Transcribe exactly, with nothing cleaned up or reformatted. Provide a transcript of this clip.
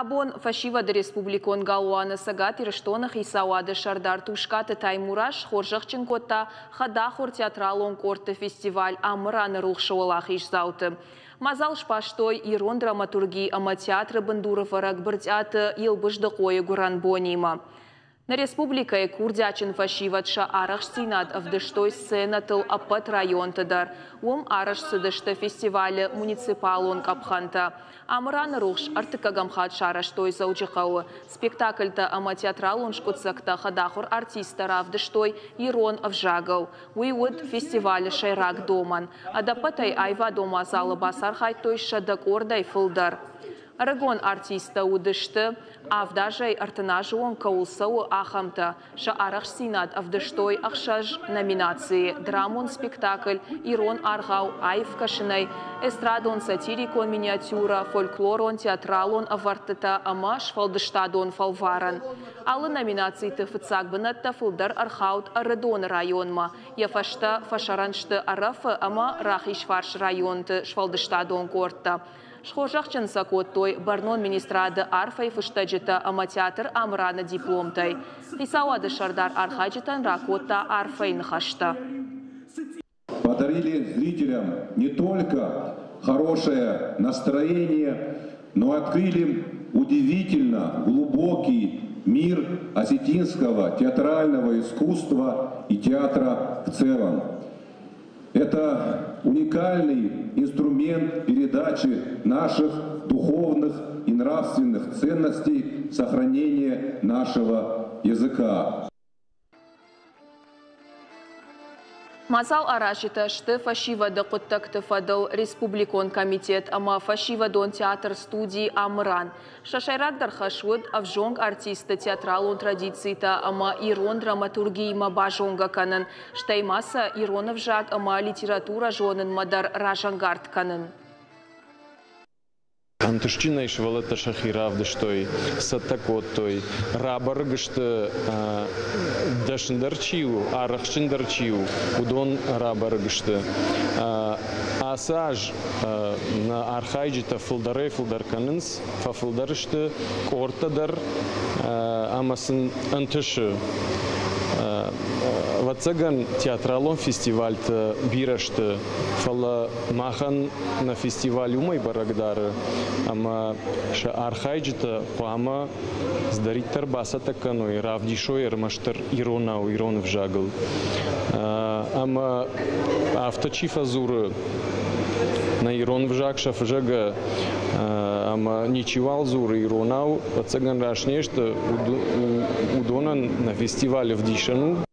Абон фӕсивӕды республикон галуаны Цӕгат Ирыстоны хицауады сӕрдар Тускъаты Таймураз схорзӕхджын кодта хӕдахуыр театралон къордты фестиваль «Амыраны рухс-ы» уӕлахиздзауты. Мадзал сбастой ирон драматурги ӕмӕ театры бындурӕвӕрӕг Брытъиаты Елбыздыхъойы гуырӕн бонимӕ. Нӕ республикӕйы курдиатджын фӕсивӕд сӕ арӕхстдзинад ӕвдыстой сценӕтыл ӕппӕт районты дӕр. Уым арӕзт цыдысты фестивалы муниципалон къӕпхӕнтӕ. «Амыраны рухс» ӕртыккӕгӕм хатт сарӕзтой Дзӕуджыхъӕуы. Спектакльтӕ ӕмӕ театралон скъуыддзӕгтӕ хӕдахуыр артисттӕ равдыстой ирон ӕвзагыл. Уый уыд фестивалы сӕйраг домӕн. Ӕдӕппӕтӕй аивадон мадзалы бацархайдтой сӕдӕ къордӕй фылдӕр. Ӕрыгон артисттӕ уыдысты авд азӕй ӕртын азы онг кӕуыл цӕуы, ахӕмтӕ. Сӕ арӕхстдзинад ӕвдыстой ӕхсӕз номинацийы: драмон спектакль, ирон аргъау аив кӕсынӕй, эстрадон-сатирикон миниатюрӕ, фольклорон, театралон ӕвӕрдтытӕ ӕмӕ сфӕлдыстадон фӕлварӕн. Алы номинациты фыццаг бынӕттӕ фылдӕр ӕрхауд Ӕрыдоны районмӕ. Йӕ фӕстӕ фӕсӕрӕн сты Ӕрӕфы ӕмӕ Рахизфарс районты сфӕлдыстадон къордтӕ. Схорзӕхджын сӕ кодтой бӕрнон министрады арфӕйы фыстӕджытӕ ӕмӕ театр «Амыраны» дипломтӕй. Хицауады сӕрдар архайджытӕн ракодта арфӕйы ныхӕстӕ. Подарили зрителям не только хорошее настроение, но открыли удивительно глубокий мир осетинского театрального искусства и театра в целом. Это уникальный инструмент передачи наших духовных и нравственных ценностей, сохранения нашего языка. Мадзал аразджытӕ сты фӕсивӕды хъуыддӕгты фӕдыл республикон комитет ӕмӕ фӕсивӕдон театр студии «Амыран». Сӕ сӕйрагдӕр хӕс уыд ӕвзонг артистты театралон традицитӕ ӕмӕ ирон драматургиимӕ базонгӕ кӕнын, стӕй ма сӕ ирон ӕвзаг ӕмӕ литературӕ зонынмӕ дӕр разӕнгард кӕнын. Ӕнтыстджынӕй сывӕллӕттӕ сӕхи равдыстой, цӕттӕ кодтой, рабӕрӕг сты, дӕсныдӕр чи у, арӕхстджындӕр чи у, уыдон рабӕрӕг сты. Ацы аз нӕ архайджытӕ фылдӕрӕй-фылдӕр кӕнынц, фӕфылдӕр сты къордтӕ дӕр ӕмӕ сын ӕнтысы. Ӕвӕццӕгӕн театралон фестивальты бирӕ сты, фӕлӕ махӕн нӕ фестиваль уымӕй бӕрӕг дары, ӕмӕ сӕ архайджытӕ хъуамӕ цыдӕриддӕр бацӕттӕ кӕной, равдисой ӕрмӕстдӕр иронау, ирон ӕвзагыл. Ӕмӕ афтӕ чи фӕдзуры, нӕ ирон ӕвзаг сӕ фызӕгӕ ӕмӕ ничиуал дзуры иронау, ӕвӕццӕгӕн раст не сты, уыдонӕн нӕ фестиваль ӕвдисӕн у.